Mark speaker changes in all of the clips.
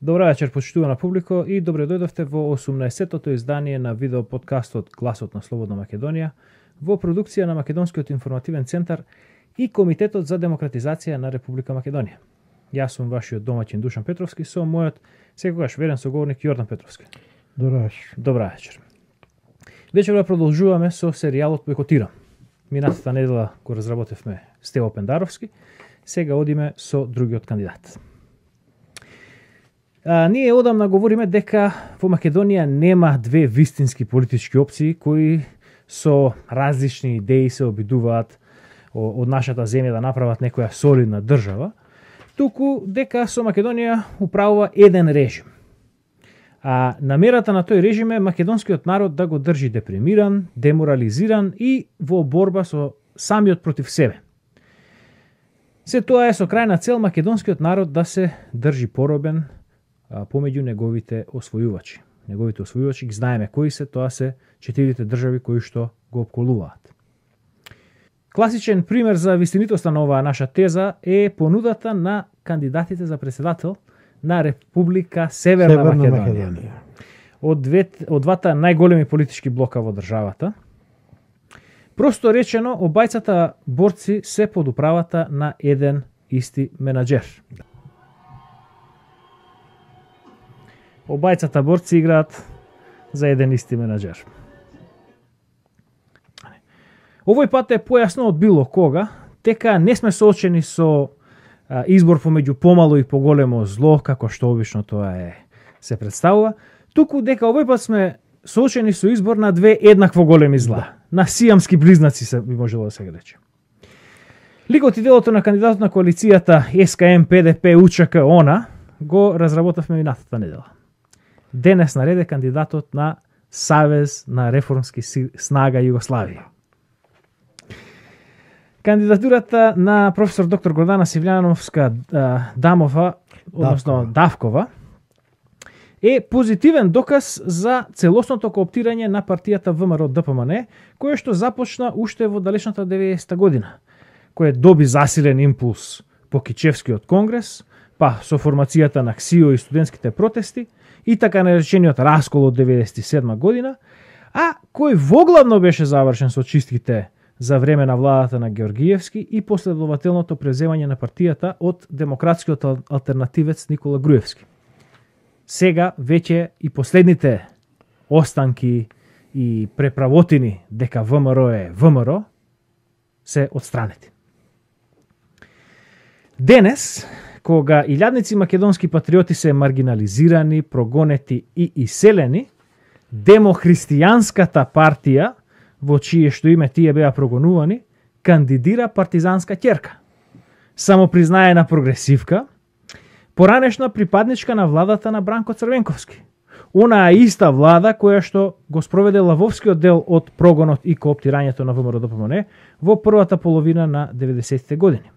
Speaker 1: Добра вечер, почитувана публико, и добре дојдовте во 18-тото издание на видео подкастот Гласот на Слободна Македонија во продукција на Македонскиот информативен центар и Комитетот за демократизација на Република Македонија. Јас сум вашиот домаќин Душан Петровски со мојот секогаш верен соговорник Јордан Петровски. Добра вечер. Вечерва продолжуваме со серијалот Бойкотирам. Минатата недела го разработевме Стево Пендаровски, сега одиме со другиот кандидат. Ние одамна говориме дека во Македонија нема две вистински политички опции кои со различни идеи се обидуваат од нашата земја да направат некоја солидна држава, туку дека со Македонија управува еден режим. А намерата на тој режим е македонскиот народ да го држи депримиран, деморализиран и во борба со самиот против себе. Се тоа е со крајна цел македонскиот народ да се држи поробен помеѓу неговите освојувачи. Неговите освојувачи ги знаеме кои се, тоа се 4 држави кои што го опколуваат. Класичен пример за вистинитоста на оваа наша теза е понудата на кандидатите за председател на Република Северна Македонија. Од двата најголеми политички блока во државата. Просто речено, обајцата борци се под управата на еден исти менаџер. Обајцата борци играат за еден исти менаџер. Овој пат е појасно од било кога, дека не сме соочени со избор помеѓу помало и поголемо зло, како што обично тоа се представува, туку дека овој пат сме соочени со избор на две еднакво големи зла, на сиамски близнаци се би можело да се рече. Ликот и делото на кандидатот на коалицијата СКМ, ПДП, УЧК, ОНА го разработавме минатата недела. Денес нареде кандидатот на Савез на реформски снага Југославија. Кандидатурата на професор доктор Гордана Сивљановска Давкова е позитивен доказ за целосното кооптирање на партијата ВМРО ДПМН, кое што започна уште во далечната 90-та година, кое доби засилен импулс по Кичевскиот конгрес, па со формацијата на КСИО и студентските протести, и така наречениот раскол од 97 година, а кој воглавно беше завршен со чистките за време на владата на Георгиевски и последователното преземање на партијата од демократскиот алтернативец Никола Груевски. Сега веќе и последните останки и преправотини дека ВМРО е ВМРО се отстранети. Денес, кога илјадници македонски патриоти се маргинализирани, прогонети и иселени, демохристијанската партија, во чие што име тие беа прогонувани, кандидира партизанска ќерка. Самопризнаена прогресивка, поранешна припадничка на владата на Бранко Црвенковски. Онаа иста влада која што го спроведе лавовскиот дел од прогонот и кооптирањето на ВМРО ДПМН во првата половина на 90-те години.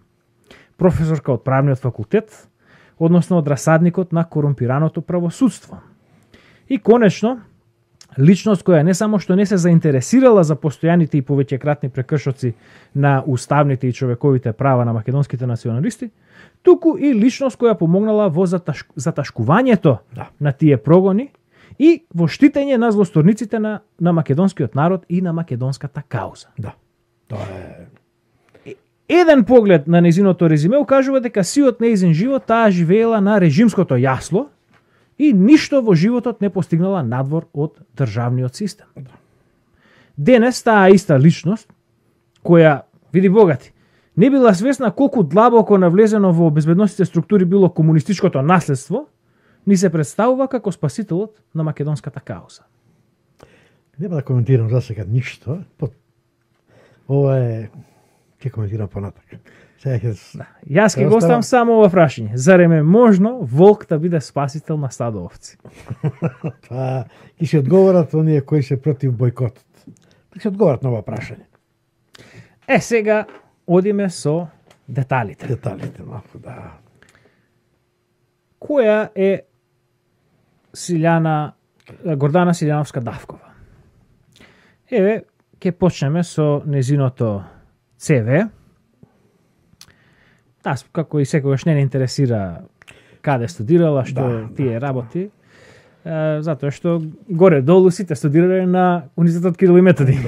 Speaker 1: Професорка од правниот факултет, односно од расадникот на корумпираното правосудство. И конечно, личност која не само што не се заинтересирала за постојаните и повеќекратни прекршоци на уставните и човековите права на македонските националисти, туку и личност која помогнала во заташкувањето на тие прогони и во штитење на злосторниците на македонскиот народ и на македонската кауза.
Speaker 2: Да. Тоа е...
Speaker 1: Еден поглед на незиното резиме укажува дека сиот неизин живот таа живеела на режимското јасло и ништо во животот не постигнала надвор од државниот систем. Денес таа иста личност, која, види богати, не била свесна колку длабоко навлезено во безбедносните структури било комунистичкото наследство, ни се представува како спасителот на македонската кауза.
Speaker 2: Нема да коментирам за сега ништо. Ова е... Ке коментирам понатак.
Speaker 1: Јас ќе го оставам само ова прашање. Зарем е можно волк да биде спасител на стадо овци?
Speaker 2: Па, ќе се одговорат оние кои се против бойкотот. Ќе се одговорат на ова прашање.
Speaker 1: Сега одиме со деталите.
Speaker 2: Деталите, малку, да.
Speaker 1: Која е Гордана Силјановска Давкова? Еве, ќе почнеме со незиното ЦВ. Таа, како и секогаш, не интересира каде студирала, што тие работи. Затоа што горе-долу сите студирале на Универзитетот Кирил и Методи.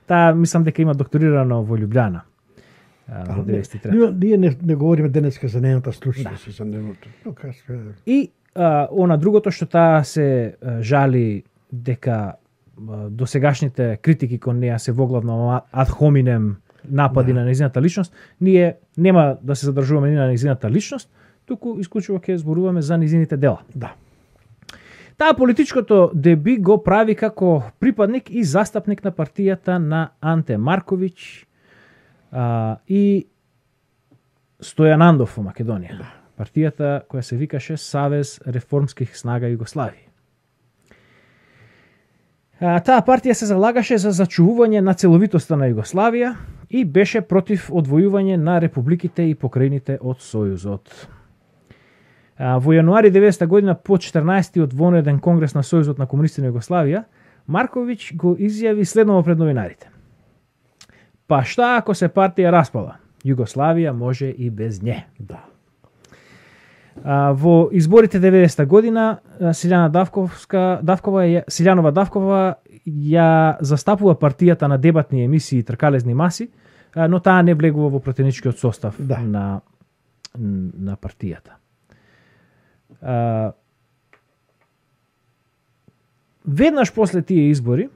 Speaker 1: Таа мислам дека има докторирано во Љубљана. Во 93.
Speaker 2: Ние не говориме денеска за нејната стручност за нејното.
Speaker 1: И она другото што таа се жали дека досегашните критики кон неа се воглавно ад хоминем напади на нејзината личност, ние нема да се задржуваме ни на нејзината личност, туку исклучиво ќе зборуваме за нејзините дела.
Speaker 2: Да.
Speaker 1: Таа политичкото деби го прави како припадник и застапник на партијата на Анте Марковиќ и Стојан Андов во Македонија. Партијата која се викаше Савез реформских снага Југославија. Таа партија се залагаше за зачувување на целовитоста на Југославија и беше против одвојување на републиките и покрајните од Сојузот. Во јануари 90 година по 14-тиот вонреден конгрес на Сојузот на комунисти на Југославија, Марковиќ го изјави следново пред новинарите. Па шта ако се партија распала? Југославија може и без нje.
Speaker 2: Да.
Speaker 1: Во изборите 90 година Силјанова Давкова ја застапува партијата на дебатни емисии и тркалезни маси, но таа не влегува во пратеничкиот состав на партијата. Веднаш после тие избори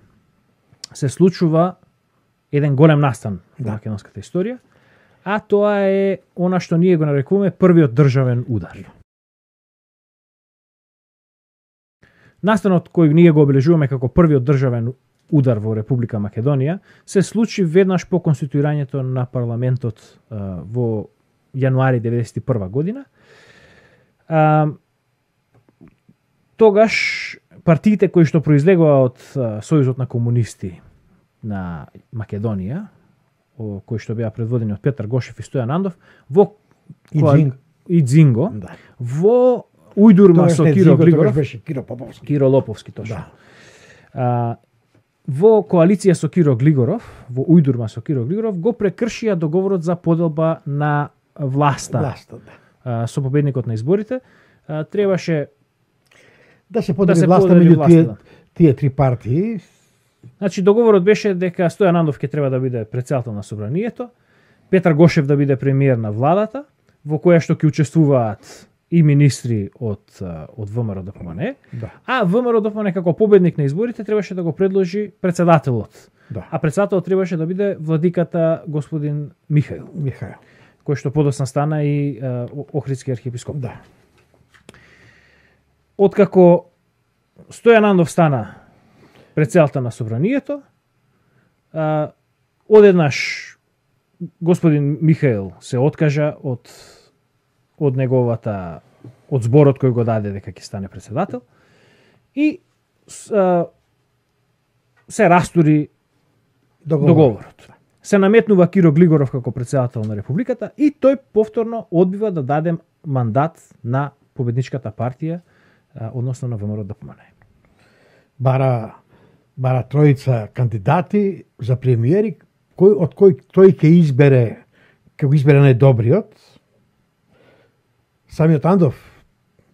Speaker 1: се случува еден голем настан во македонската историја, а тоа е она што ние го нарекуваме првиот државен удар. Настанот кој ние го обележуваме како првиот државен удар во Република Македонија се случи веднаш по конституирањето на парламентот во јануари 91 година. Тогаш партиите кои што произлегува од Сојузот на комунисти на Македонија, кои што беа предводени од Петар Гошев и Стојан Андов, во Дзинго, во ујдурма со Киро Глигоров, Киро Лоповски точно. Во коалиција со Киро Глигоров, во ујдурма со Киро Глигоров, го прекршија договорот за поделба на власта со победникот на изборите. Требаше
Speaker 2: да се подели власта меѓу тие три партии.
Speaker 1: Значи договорот беше дека Стојан Андов ќе треба да биде претседател на собранието, Петар Гошев да биде премиер на владата, во која што ќе учествуваат и министри од ВМРО ДПМНЕ, а ВМРО ДПМНЕ како победник на изборите требаше да го предложи претседателот. А претседателот требаше да биде владиката господин Михаил, кој што подоцна стана и Охридски архиепископ. Откако Стојан Андов стана претседател на собранието, одеднаш господин Михаил се откажа од зборот кој го даде дека ќе стане претседател и се растури договорот. Се наметнува Киро Глигоров како претседател на Републиката и тој повторно одбива да даде мандат на победничката партија, односно на ВМРО ДПМНЕ.
Speaker 2: Бара тројца кандидати за премиери, од кој тој ќе избере најдобриот. Самиот Андов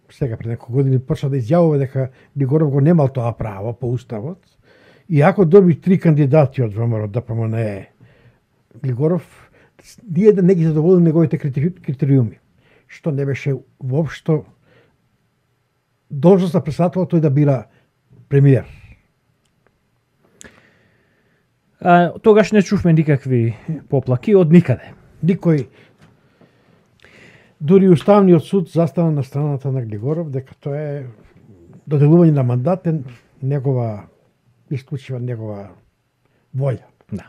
Speaker 2: сега пред неколку години почна да изјавува дека Глигоров го немал тоа право по уставот. И ако доби три кандидати од ВМРО ДПМНЕ, Глигоров ние да не ги задоволи неговите критериуми, што не беше воопшто должност на претседател тој да бира премиер.
Speaker 1: Тогаш не чувме никакви поплаки од никаде.
Speaker 2: Никој, дури Уставниот суд застана на страната на Глигоров дека тоа е доделување на мандат е негова исклучива негова волја.
Speaker 1: Да.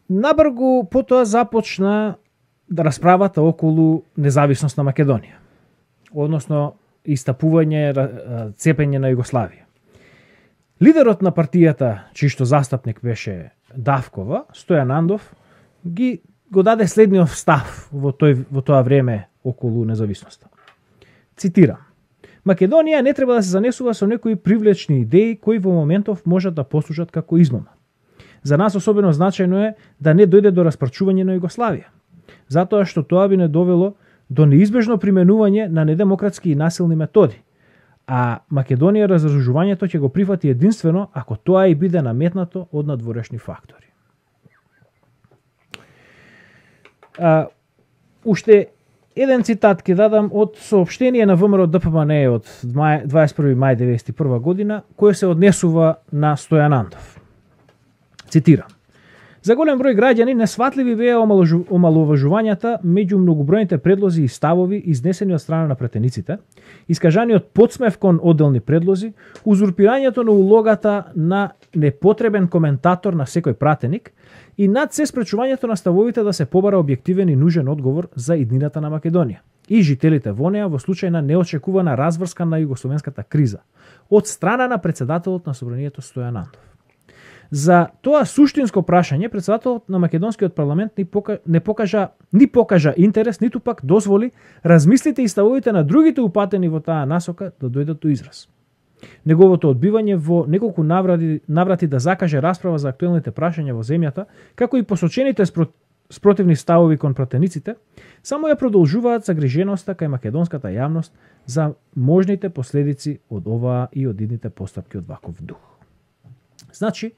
Speaker 1: Набргу потоа започна расправата околу независност на Македонија, односно истапување, цепење на Југославија. Лидерот на партијата, чиј што застапник беше Давкова, Стојан Андов, го даде следниот став во тоа време околу независноста. Цитирам: Македонија не треба да се занесува со некои привлечни идеи кои во моментов можат да послужат како измама. За нас особено значајно е да не дојде до распарчување на Југославија. затоа што тоа би не довело до неизбежно применување на недемократски и насилни методи. А Македонија разоружувањето ќе го прифати единствено ако тоа и биде наметнато од надворешни фактори. Уште еден цитат ќе дадам од соопштение на ВМРО ДПМНЕ од 21. мај 1991 година, кој се однесува на Стојан Андов. Цитирам: "За голем број граѓани несватливи беа омаловажувањата меѓу многобројните предлози и ставови изнесени од страна на претениците, искажаниот подсмев кон одделни предлози, узурпирањето на улогата на непотребен коментатор на секој пратеник и над се спречувањето на ставовите да се побара објективен и нужен одговор за иднината на Македонија и жителите во неа во случај на неочекувана разврска на југословенската криза од страна на председателот на собранието Стојан Андов. За тоа суштинско прашање председателот на македонскиот парламент не покажа интерес, ниту пак дозволи размислите и ставовите на другите упатени во таа насока да дојдат до израз. Неговото одбивање во неколку наврати да закаже расправа за актуелните прашања во земјата, како и посочените спротивни ставови кон пратениците, само ја продолжуваат загриженоста кај македонската јавност за можните последици од оваа и од идните постапки од ваков дух. Значи,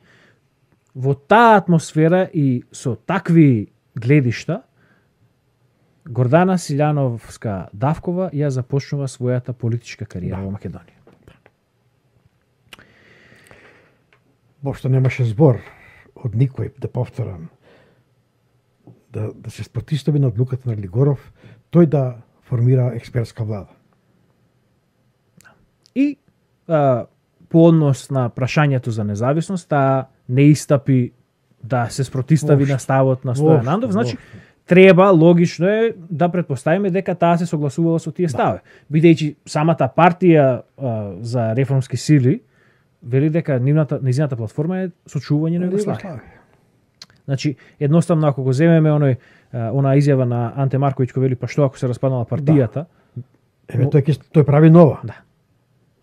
Speaker 1: во таа атмосфера и со такви гледишта, Гордана Силјановска-Давкова ја започнува својата политичка кариера во Македонија.
Speaker 2: Бошто немаше збор од никој, да повторам, да се спротистави на одлуката на Глигоров, тој да формира експертска влада.
Speaker 1: И по однос на прашањето за независност, таа не истапи да се спротистави на ставот на Стојан Андов, значи треба, логично е да претпоставиме дека таа се согласувала со тие стави. Бидејќи самата партија за реформски сили вели дека низината платформа е сочувување на Југославија. Значи, едноставно ако го земеме она изјава на Анте Марковиќ кој вели па што ако се распаднала партијата,
Speaker 2: тој прави нова.
Speaker 1: Да.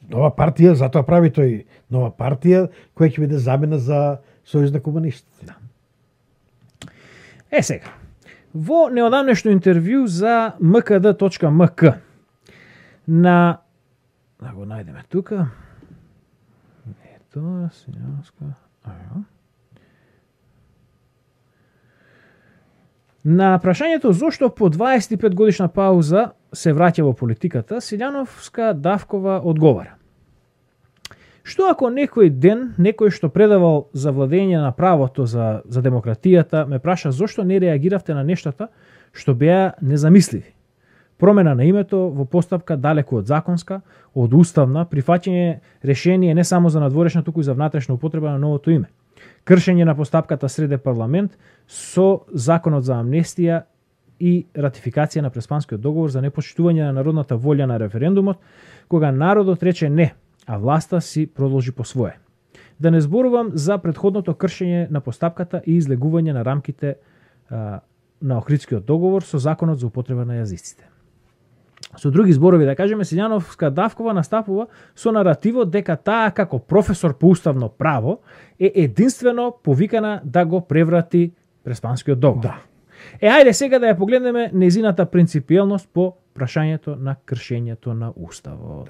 Speaker 2: Нова партија, затоа прави тој нова партија која ќе биде замена за Сојуз на комунистите.
Speaker 1: Да. Сега, во неодамнешно интервју за mkd.mk на да го најдеме тука. Ето, Силјановска. На прашањето зошто по 25 годишна пауза се враќа во политиката, Силјановска-Давкова одговара: "Што ако некој ден некој што предавал за владење на правото за демократијата ме праша зошто не реагиравте на нештата што беа незамисливи? Промена на името во постапка далеку од законска, од уставна, прифаќање решение не само за надворешна, туку и за внатрешна употреба на новото име. Кршење на постапката среде парламент со законот за амнестија и ратификација на Преспанскиот договор за непочитување на народната волја на референдумот, кога народот рече не, а власта си продолжи по свое. Да не зборувам за претходното кршење на постапката и излегување на рамките на Охридскиот договор со законот за употреба на јазиците." Со други зборови, да кажеме, Силјановска-Давкова настапува со наративот дека таа како професор по уставно право е единствено повикана да го преврати Преспанскиот договор.
Speaker 2: Да.
Speaker 1: Ајде сега да ја погледнеме незината принципиелност по прашањето на кршењето на уставот.